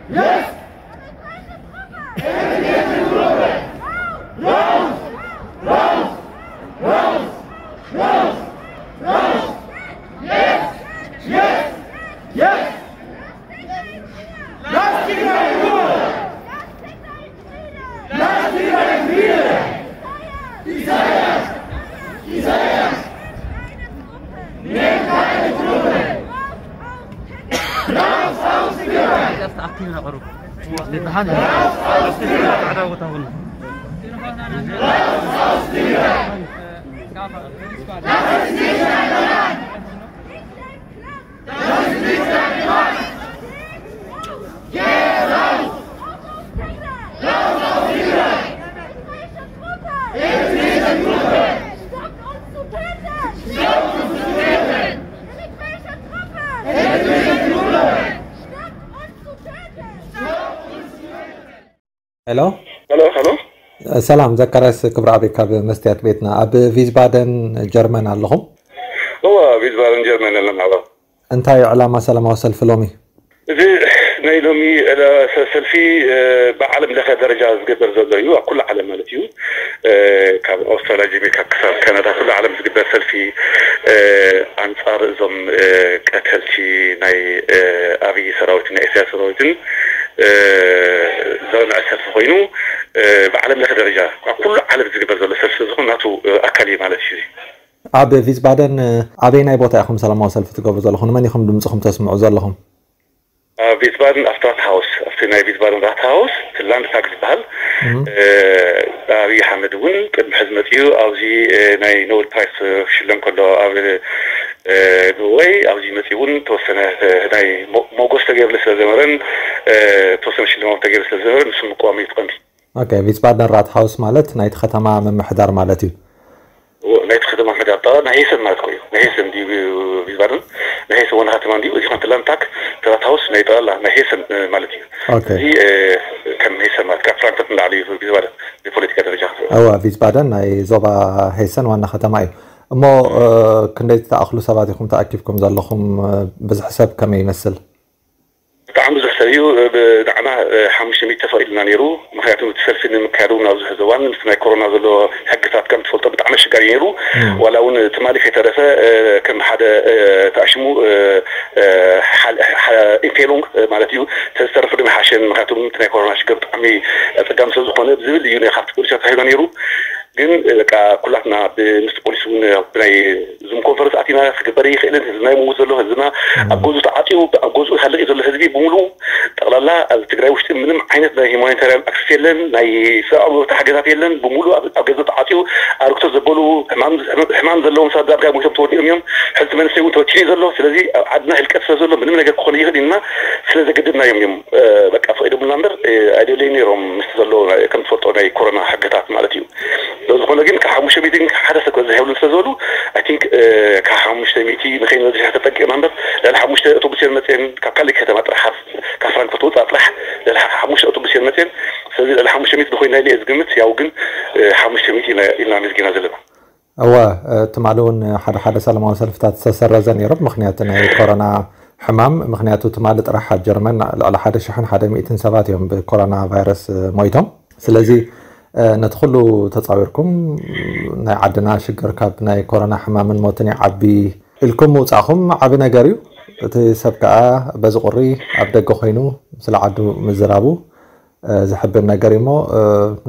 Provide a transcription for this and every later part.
Yes! Raus! Raus! Raus! Raus! Raus! Yes! Yes! Yes! Lass Tigray in Ruhe! Lass Tigray in Frieden! Isaias! Isaias! Nehmt keine Truppe! Raus aus Tigray! Raus aus Tigray! Raus aus Tigray! Das ist nicht ein Land! Das ist nicht ein Land! Geht raus! Raus aus Tigray! Stoppt uns zu töten! Stoppt uns zu töten! Militärische Truppen! Militärische Truppen! Stoppt uns zu töten! Hello? Hello, hello. ሰላም ዘካርያስ ክብረኣብ ካብ መስትያት ቤትና። ኣብ ቪዝባደን ጀርመን ኣለኹም? እዋ፣ ቪዝባደን ጀርመን ኣለና። እዋ። እንታይ እዩ ዕላማ ሰላማዊ ሰልፊ ሎሚ? እዚ ናይ ሎሚ፣ እ፣ ሰ-፣ ሰልፊ፣ እ፣ ብዓለም ለኸ ደረጃ ዝግበር ዘሎ እዩ፣ ኣብ ኩሉ ዓለም ማለት እዩ። እ፣ ካብ ኣውስትራልያ ጀሚርካ ክሳብ ካናዳ ኩሉ ዓለም ዝግበር ሰልፊ፣ እ፣ ኣንጻር እዞም፣ እ፣ ቀተልቲ ናይ፣ እ፣ ኣብይ ሰራዊትን ናይ ኢሳያስ ሰራዊትን፣ እ፣ ዘውንዐ ሰልፊ ኮይኑ፣ እ፣ ብዓለም ለኸ ደረጃ ኣብ ኩሉ ዓለም ዝግበር ዘሎ ሰልፊ ዝኾን ናቱ፣ እ፣ ኣካል እዩ ማለት እዩ። ኣብ ቪዝባደን፣ እ፣ ኣበየናይ ቦታ ኢኹም ሰላማዊ ሰልፊ ትገብሩ ዘለኹም? ንመን ኢኹም ድምፅኹም ተስምዑ ዘለኹም? ኣብ ቪዝባደን፣ ኣብቲ ራት ሃውስ፣ ኣብቲ ናይ ቪዝባደን ራት ሃውስ፣ እቲ ላንድታግ ዝበሃል፣ እም። እ፣ ኣብይ ኣሕመድ እውን ቅድሚ ሕዚ መፂኡ ኣብዚ፣ እ፣ ናይ ኖበል ፕራይስ ክሽለም ከሎ ኣብ፣ እ፣ ኖርወይ ኣብዚ መፂኡ እውን ተወሰነ፣ እ፣ ናይ ሞ-፣ ሞጎስ ተገይርሉ ስለ ዝነበረን፣ እ፣ ተወሰነ ሽልማት ተገይሩ ስለ ዝነበረ ንሱ ምቅዋም እዩ እቲ ቀንዲ። ኦኬ፣ ቪስባደን ራትሃውስ ማለት ናይቲ ከተማ ምምሕዳር ማለት እዩ። ናይቲ ከተማ ምሕዳር ጠቕላላ ናይ ሄሰን ማለት እኮ እዩ። ናይ ሄሰን ድዩ ቪስባደን? ናይ ሄሰን ዋና ከተማ እንድዩ። እዚ ኸንተ ላንታክ ራትሃውስ ናይ ጠቕላላ ናይ ሄሰን፣ እ፣ ማለት እዩ። ኦኬ። እዚ፣ እ፣ ከም ሄሰን ማለት ካብ ፍራንክፈርት ንላዕሊ እዩ ቪስባደን ብፖለቲካ ደረጃ። እወ፣ ቪስባደን ናይ ዞባ ሄሰን ዋና ከተማ እዩ። እሞ፣ እ፣ ክንደይ ትኣኽሉ ሰባት ኢኹም ተኣኪብኩም ዘለኹም? እ፣ ብዝሒ ሰብ ከመይ ይመስል? ብጣዕሚ ብዙሕ ሰብ እዩ። ብ-፣ ንዓና፣ እ፣ ሓሙሽተ ሚእቲ ተፈቒዱልና ነይሩ። ምኽንያቱ እቲ ሰልፊ ንምክያድ እውን ኣብዚ ሕዚ እዋን ምስቲ ናይ ኮሮና ዘሎ ሕግታት ከም ትፈልጦ ብጣዕሚ ኣሸጋሪ ነይሩ። እም። ዋላ እውን ትማሊ ከይተረፈ፣ እ፣ ከም ሓደ፣ እ፣ ተኣሽሙ፣ እ፣ እ፣ ሓል-፣ ሓ-፣ ኢምፔሉንግ፣ እ፣ ማለት እዩ። ተዝተረፈ ድማ ሓሸን፣ ምኽንያቱ እቲ ናይ ኮሮና ሽግር ብጣዕሚ ኣጸጋሚ ስለ ዝኾነ ብዝብል እዩ ናይ ካብቲ ፖሊስ ተታሂዞ ነይሩ። ግን፣ እ፣ በቃ ኩላትና ብ-፣ ምስ ፖሊስ እውን ኣብ ናይ ዙም ኮንፈረንስ ኣቲና ክግበር ይኽእልን ህዝብና ይመውት ዘሎ ህዝብና እም። ኣብ ገዝኡ ተዓፅዩ ኣብ ገዝኡ ሃለቂ ዘሎ ህዝቢ ብምሉኡ ጠቕላላ ኣብ ትግራይ ውሽጢ ምንም ዓይነት ናይ ሂማኒታርያን ኣክሰስ የለን፣ ናይ ሰብኣዊ መብት ሓገዛት የለን። ብምሉኡ ኣብ፣ ኣብ ገዛ ተዓፅዩ ኣርግቶ ዘበሉ ሕማም፣ ሕማም ዘለዎም ሰባት ዳርጋ ሞይቶም ተወዲኦም እዮም። ሕልቲ መንእሰይ እውን ተወቲኑ እዩ ዘሎ። ስለዚ ኣብ ዓድና ህልቀት ስለ ዘሎ ምንም ነገር ክኾነ ይኽእል ኢልና ስለ ዘገደድናዮም እዮም፣ እ፣ በቃ ፈቒዶምልና እምበር፣ እ፣ ኣይደለዩ ነይሮም ምስ ዘሎ ናይ፣ ከም ትፈልጦ ናይ ኮሮና ሕግታት ማለት እዩ። ስለዝኾነ ግን ካብ ሓሙሽተ ሚእቲ ግን ሓደ ሰብ ክበዝሕ የብሉን ስለ ዝበሉ፣ I think፣ እ፣ ካብ ሓሙሽተ ሚእቲ ንኸይንበዝሕ ተጠንቂቕና እምበር፣ ልዕሊ ሓሙሽተ ኣውቶቡስ እየን መፅየን፣ ካብ ካልእ ከተማ ጥራሕ፣ ካብ ፍራንክፈርት ወፃእ ጥራሕ ልዕሊ ሓሙሽተ ኣውቶቡስ እየን መፅየን። ስለዚ ልዕሊ ሓሙሽተ ሚእቲ ንኾይና ኢለ እየ ዝግምት። ያው ግን፣ እ፣ ሓሙሽተ ሚእቲ ኢና፣ ኢልና ኣመዝጊና ዘለና። እወ፣ እ፣ ትማሊ እውን ሓደ ሓደ ሰላማዊ ሰልፍታት ዝተሰረዘ ነይሩ፣ ምኽንያቱ ናይ ኮሮና ሕማም። ምኽንያቱ ትማሊ ጥራሕ ኣብ ጀርመን ልዕሊ ሓደ ሽሕን ሓደ ሚእትን ሰባት እዮም ብኮሮና ቫይረስ፣ እ፣ ሞይቶም። ስለዚ፣ እ፣ ነቲ ኩሉ ተጻዊርኩም ናይ ዓድና ሽግር ካብ ናይ ኮሮና ሕማምን ሞትን ይዓቢ ኢልኩም ምውጻእኹም ዓቢ ነገር እዩ። እቲ ሰብ ከኣ በዚ ቁሪ ኣብ ደገ ኮይኑ ስለ ዓዱ ምዝራቡ፣ እ፣ ዘሕብን ነገር እዩ እሞ፣ እ፣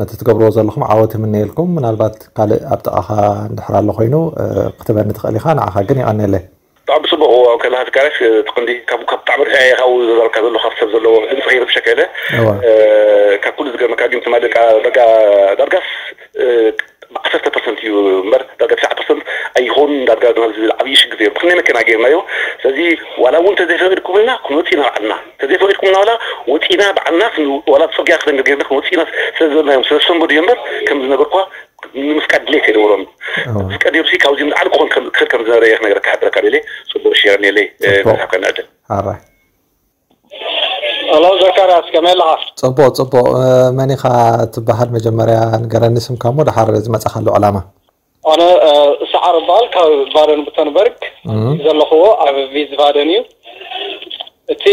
ነቲ ትገብርዎ ዘለኹም ዓወት ይምነየልኩም። ምናልባት ካልእ ኣብ ጥቓኻ እንድሕር ኣሎ ኮይኑ፣ እ፣ ክትበኒ ትኽእል ኢኻ። ንዓኻ ግን የቐንየለይ። ብጣዕሚ ጽቡቕ። እዋን ከለኻ ትካረስ፣ እ፣ ትቕንዲ ካብ፣ ካብ ብጣዕሚ ርሕያ እየ ካብኡ ዘዛረብካ ዘሎ፣ ካብ ሰብ ዘለዎ ድምፂ ከይረብሸካ ኢለ። እዋ። እ፣ ካብ ኩሉ ዝገርመካ ግን ትማሊ ደቃ፣ ዳርጋ፣ ዳርጋስ፣ እ፣ ዓሰርተ ፐርሰንት እዩ እምበር፣ ዳርጋ ትሽዓተ ፐርሰንት ኣይኾን። ዳርጋ ናብ ዝብል ዓብዪ ሽግር እዩ። ብኽንደይ መኪና ገይርናዮ። ስለዚ ዋላ እውን ተዘይፈቂድኩምልና ክንወፅእ ኢና ባዕልና። ተዘይፈቂድኩምልና ዋላ ወፂና ባዕልና ክን-፣ ዋላ ብፅርግያ ክደንገር ገይርና ክንወፅእ ኢና ስለ ዝበልናዮም ስለ ዝሰንበዱ እዮም እምበር፣ ከም ዝነገርኳ ንምፍቃድ ድሌት ኣይነበሮም። ኣዎ። ፍቃድ ነይሩሲ ካብዚ ንላዕሊ ክኾን ከም፣ ክኽእል ከም ዝነበረ እየ ክነገረካ፣ ክሕብረካ ደልየ። ጽቡቕ፣ እሺ፣ የቐንየለይ፣ እ፣ ጽቡቕ። መጽሓፍካ ንዕድል። ኣራይ። ሄሎ፣ ዘካርያስ፣ ከመይ ኣለኻ? ጽቡቕ፣ ጽቡቕ። እ፣ መን ኢኻ ትበሃል? መጀመርያ ንገረኒ ስምካ እሞ ደሓር ዝመጻኻሉ ዕላማ። ኣነ፣ እ፣ ሰዓር እበሃል፣ ካብ ባደን ቡተንበርግ እም። ዘለኽዎ ኣብ ቪዝባደን እዩ። እቲ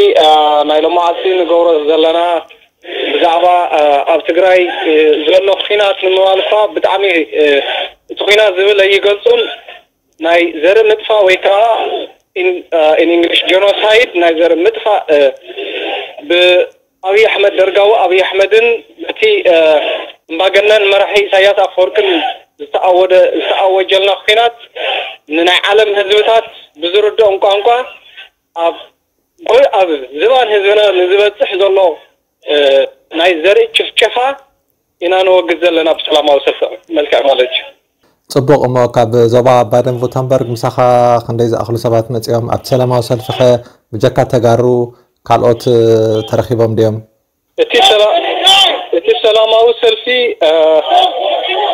ናይ ሎማዓልቲ ንገብሮ ዘለና ብዛዕባ ኣብ ትግራይ ዘሎ ኩናት ንምባል እኳ ብጣዕሚ እቲ ኩናት ዝብል ኣይገልፁን። ናይ ዘርኢ ምጥፋእ ወይ ከዓ ኢን ኢንግሊሽ ጀኖሳይድ ናይ ዘርኢ ምጥፋእ ብኣብይ ኣሕመድ ደርጋዊ ኣብይ ኣሕመድን በቲ እምባገነን መራሒ ኢሳያስ ኣፈወርቅን ዝተኣወደ ዝተኣወጀልና ኩናት ንናይ ዓለም ህዝብታት ብዝርድኦም ቋንቋ ኣብ ጎይ ኣብ ዝባን ህዝብና ንዝበፅሕ ዘሎ ናይ ዘርኢ ጭፍጨፋ ኢና ነወግድ ዘለና ብሰላማዊ ሰልፊ መልክዕ ማለት እዩ። ፅቡቕ። እሞ ካብ ዞባ ባደን ቡተንበርግ ምሳኻ ክንደይ ዝኣኽሉ ሰባት መፂኦም ኣብቲ ሰላማዊ ሰልፊ ኸ ብጀካ ተጋሩ ካልኦት ተረኺቦም ድዮም? እቲ ሰላ- እቲ ሰላማዊ ሰልፊ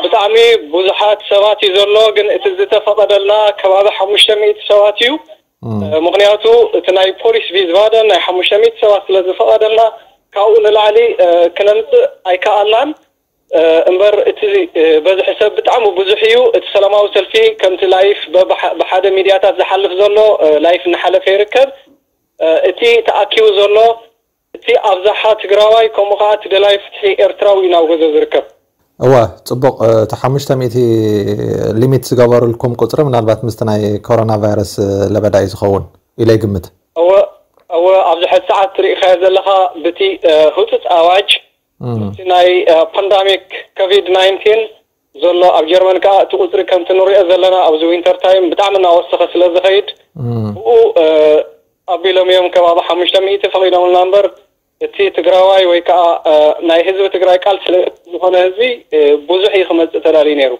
ብጣዕሚ ብዙሓት ሰባት እዩ ዘሎ፣ ግን እቲ ዝተፈቐደልና ከባቢ ሓሙሽተ ሚእቲ ሰባት እዩ። ምክንያቱ እቲ ናይ ፖሊስ ቪዝባደን ናይ ሓሙሽተ ሚእቲ ሰባት ስለ ዝፈቐደልና ካብኡ ንላዕሊ ክነምፅእ ኣይከኣልናን። እምበር እቲ በዝሒ ሰብ ብጣዕሚ ብዙሕ እዩ። እቲ ሰላማዊ ሰልፊ ከምቲ ላይፍ ብሓደ ሚድያታት ዝሓልፍ ዘሎ ላይፍ እናሓለፈ ይርከብ። እቲ ተኣኪቡ ዘሎ እቲ ኣብዛሓ ትግራዋይ ከምኡ ከዓ እቲ ደላይ ፍትሒ ኤርትራዊ እዩ ናብ ገዘ ዝርከብ። እወ፣ ፅቡቕ። እቲ ሓሙሽተ ሚእቲ ሊሚት ዝገበሩልኩም ቁፅሪ ምናልባት ምስቲ ናይ ኮሮና ቫይረስ ለበዳ እዩ ዝኸውን ኢለ ይግምት። እወ እወ ኣብዚ ሕዚ ሰዓት ትሪኢኻዮ ዘለኻ ብቲ ህፁፅ ኣዋጅ እቲ ናይ ፓንዳሚክ ኮቪድ ናይንቲን ዘሎ ኣብ ጀርመን ከዓ እቲ ቁፅሪ ከምቲ ንሪኦ ዘለና ኣብዚ ዊንተር ታይም ብጣዕሚ እናወሰኸ ስለ ዝኸይድ ብኡ ኣቢሎም እዮም ከባቢ ሓሙሽተ ሚእቲ ፈቒዶምልና እምበር እቲ ትግራዋይ ወይ ከዓ ናይ ህዝቢ ትግራይ ቃል ስለ ዝኾነ ህዝቢ ብዙሕ እዩ ክመፅእ ተዳልዩ ነይሩ።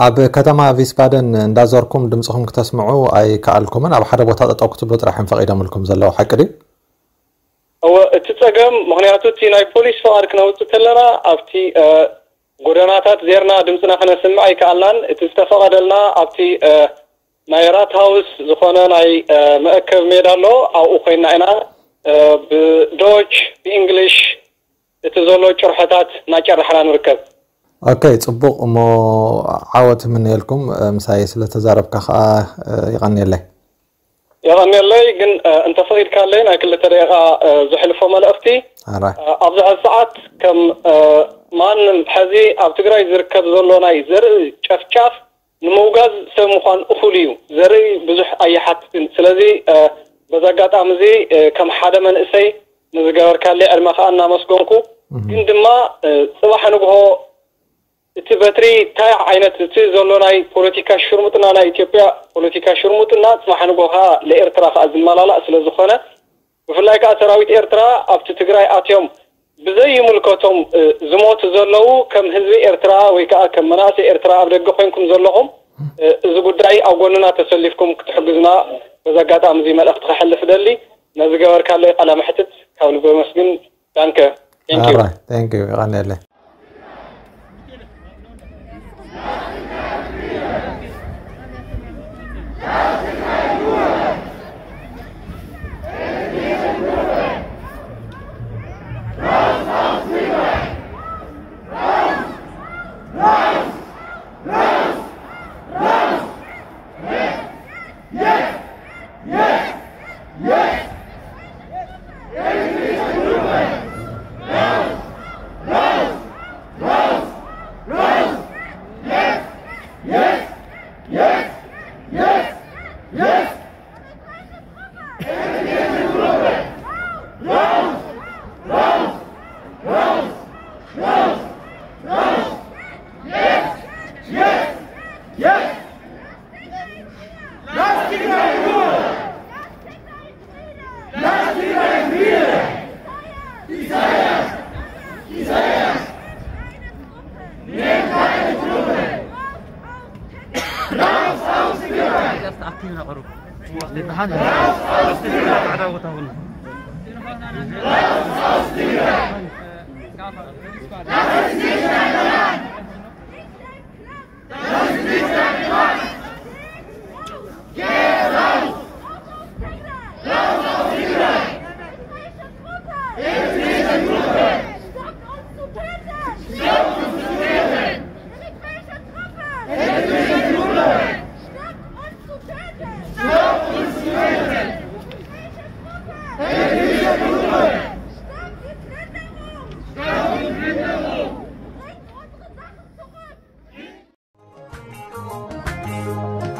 ኣብ ከተማ ቪስባደን እንዳዞርኩም ድምፅኹም ክተስምዑ ኣይከኣልኩምን። ኣብ ሓደ ቦታ ጠጠው ክትብሉ ጥራሕ እዮም ፈቒዶምልኩም ዘለዉ፣ ሓቂ ድዩ? እወ፣ እቲ ፀገም ምኽንያቱ እቲ ናይ ፖሊስ ፍቓድ ክነውፅእ ከለና ኣብቲ ጎደናታት ዜርና ድምፅና ክነስምዕ ኣይከኣልናን። እቲ ዝተፈቐደልና ኣብቲ ናይ ራት ሃውስ ዝኾነ ናይ መእከብ ሜዳ ኣሎ። ኣብኡ ኮይና ኢና ብዶች ብእንግሊሽ እቲ ዘሎ ጭርሖታት እናጨራሕና ንርከብ። ኦኬ፣ ፅቡቕ። እሞ ዓወት እምነየልኩም፣ ምሳይ ስለተዛረብካ ከዓ ይቐንየለይ። የቐንየለይ። ግን እንተፈቒድካለይ ናይ ክልተ ደቂቓ ዘሕልፎ መልእኽቲ። ኣብዚ ሕዚ ሰዓት ከም ማንም ሕዚ ኣብ ትግራይ ዝርከብ ዘሎ ናይ ዘርኢ ጨፍጫፍ ንምውጋዝ ሰብ ምዃን እኹል እዩ። ዘርኢ ብዙሕ ኣይሓትትን። ስለዚ በዚ ኣጋጣሚ እዚ ከም ሓደ መንእሰይ ንዝገበርካለይ ዕድመ ከዓ እናመስገንኩ፣ ግን ድማ ፅባሕ ንግሆ እቲ በትሪ እንታይ ዓይነት እቲ ዘሎ ናይ ፖለቲካ ሽርሙጥና ናይ ኢትዮጵያ ፖለቲካ ሽርሙጥና ፅባሕ ንግሆ ከዓ ለኤርትራ ከዓ ዝመላላእ ስለ ዝኾነ ብፍላይ ከዓ ሰራዊት ኤርትራ ኣብቲ ትግራይ ኣትዮም ብዘይምልከቶም ዝሞቱ ዘለዉ ከም ህዝቢ ኤርትራ ወይ ከዓ ከም መናእሰይ ኤርትራ ኣብ ደገ ኮይንኩም ዘለኹም እዚ ጉዳይ ኣብ ጎንና ተሰሊፍኩም ክትሕግዙና በዚ ኣጋጣሚ እዚ መልእኽቲ ከሕልፍ ደሊ። ነዚ ገበርካለይ ቃለ መሕትት ካብ ልቢ ኣመስግን። ዳንከ። Thank you። Alright, thank you። ይቐንየለይ።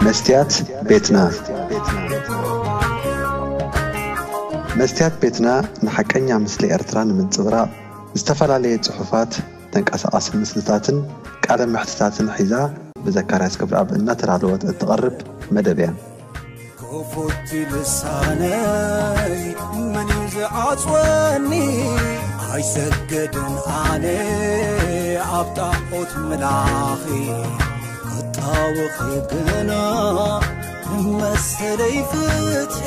መስትያት ቤትና። መስትያት ቤትና ንሓቀኛ ምስሊ ኤርትራ ንምንጽብራቕ ዝተፈላለየ ጽሑፋት፣ ተንቀሳቓሲ ምስልታትን ቃለ መሕትታትን ሒዛ ብዘካርያስ ክብረኣብ እናተዳለወት እትቐርብ መደብ እያ። ክፉት ልሳነይ መን እዩ ዝዓጽወኒ? ኣይሰገድን ኣነ ኣብ ጣዖት ምላኺ፣ ክጣወኺ ግና ንመሰለይ ፍትሒ።